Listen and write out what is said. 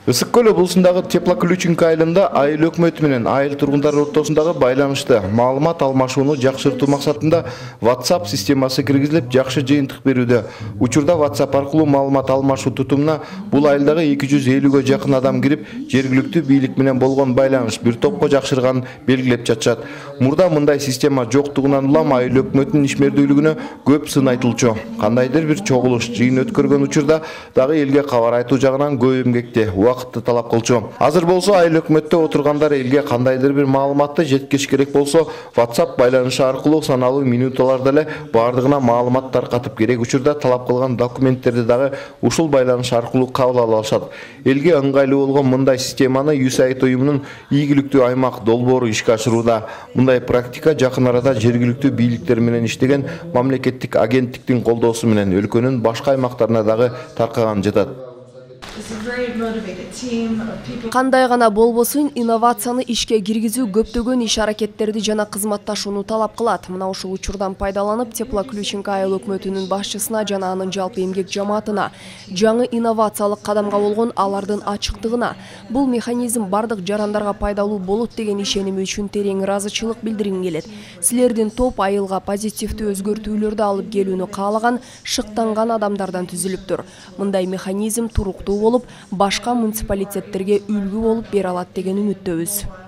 Ысык көл облусундагы Теплоключинка айылында айыл өкмөтү менен айыл тургундары ортосундагы байланышты маалымат алмашууну жакшыртуу максатында WhatsApp системасы киргизилип, жакшы жыйынтык берүүдө. Учурда WhatsApp аркылуу маалымат алмашуу тутумуна бул айылдагы 250ге жакын адам кирип, жергиликтүү бийлик менен болгон байланыш бир топко жакшырганын белгилеп жатышат. Мурда мындай система жоктугунан улам айыл өкмөтүнүн ишмердүүлүгүнө көп сын айтылчу. Кандайдыр бир чогулуш, жыйын өткөргөн учурда дагы элге кабар айтуу жагынан көп эмгекти, убакытты талап кылчу. Азыр болсо айыл өкмөттө отургандар элге кандайдыр бир маалыматты жеткириш керек болсо, WhatsApp байланышы аркылуу саналуу минуталарда эле бардыгына маалымат таркатып, керек учурда талап кылган документтерди дагы ушул байланыш аркылуу кабыл ала алышат. Элге ыңгайлуу болгон мындай системаны USAID уюмунун ийгиликтүү аймак долбоору ишке ашырууда. Мындай практика жакын арада жергиликтүү бийликтер менен иштеген мамлекеттик агенттиктин колдоосу менен өлкөнүн башка аймактарына дагы таркаган жатат. Кандай гана болбосун, инновацияны ишке киргизүү көптөгөн иш аракеттерди жана кызматташууну талап кылат. Мына ушул учурдан пайдаланып, Теплоключинка айыл өкмөтүнүн башчысына жана анын жалпы эмгек жамаатына жаңы инновациялык кадамга болгон алардын ачыктыгына, бул механизм бардык жарандарга пайдалуу болот деген ишеними үчүн терең ыраазычылык билдиргим келет. Силердин топ айылга позитивдүү өзгөртүүлөрдү алып келүүнү каалаган, шыктанган адамдардан түзүлүптүр. Мындай механизм туруктуу болуп, башка муниципалитеттерге үлгү болуп бере алат деген үмүттөбүз.